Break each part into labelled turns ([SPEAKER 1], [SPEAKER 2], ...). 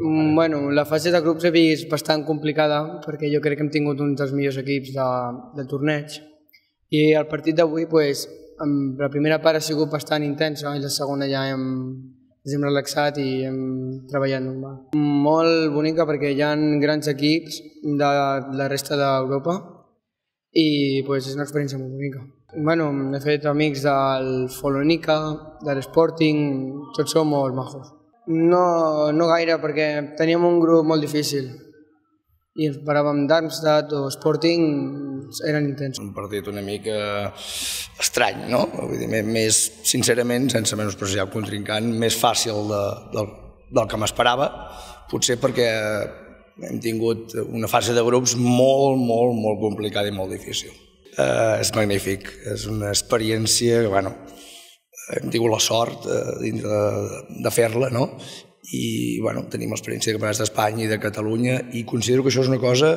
[SPEAKER 1] Bueno, la fase de grups he vist bastant complicada perquè jo crec que hem tingut uns dels millors equips del torneig i el partit d'avui, la primera part ha sigut bastant intensa i la segona ja ens hem relaxat i hem treballat normal. Molt bonica perquè hi ha grans equips de la resta d'Europa i és una experiència molt bonica. He fet amics del Follonica, de l'Sporting, tots són molt majos. No gaire, perquè teníem un grup molt difícil i ens paràvem Darmstadt o Sporting, eren intensos.
[SPEAKER 2] Un partit una mica estrany, no? Vull dir, més, sincerament, sense menospreciar el contrincant, més fàcil del que m'esperava, potser perquè hem tingut una fase de grups molt complicada i molt difícil. És magnífic, és una experiència que, hem tingut la sort de fer-la, no? I tenim l'experiència de campionats d'Espanya i de Catalunya i considero que això és una cosa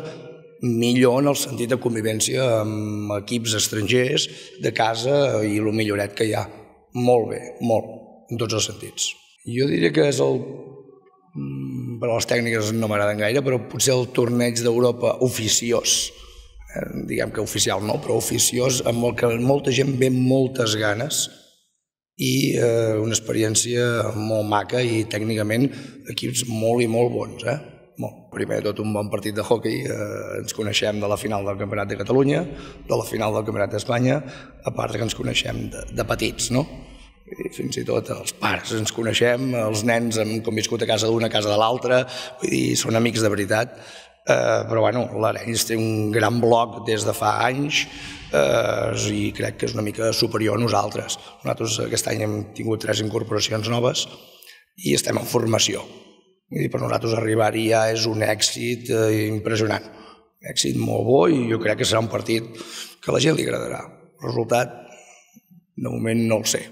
[SPEAKER 2] millor en el sentit de convivència amb equips estrangers de casa i el milloret que hi ha. Molt bé, molt, en tots els sentits. Jo diria que és per a les tècniques no m'agraden gaire, però potser el torneig d'Europa oficiós, diguem que oficial no, però oficiós, amb el que molta gent ve amb moltes ganes i una experiència molt maca i tècnicament equips molt i molt bons. Primer de tot un bon partit de hoquei, ens coneixem de la final del Campionat de Catalunya, de la final del Campionat d'Espanya, a part que ens coneixem de petits, no? Fins i tot els pares ens coneixem, els nens hem conviscut a casa d'una, a casa de l'altra, vull dir, són amics de veritat. Però l'Arenys té un gran bloc des de fa anys i crec que és una mica superior a nosaltres. Nosaltres aquest any hem tingut 3 incorporacions noves i estem en formació. Per nosaltres arribar-hi ja és un èxit impressionant, un èxit molt bo i jo crec que serà un partit que a la gent li agradarà. El resultat, de moment, no el sé.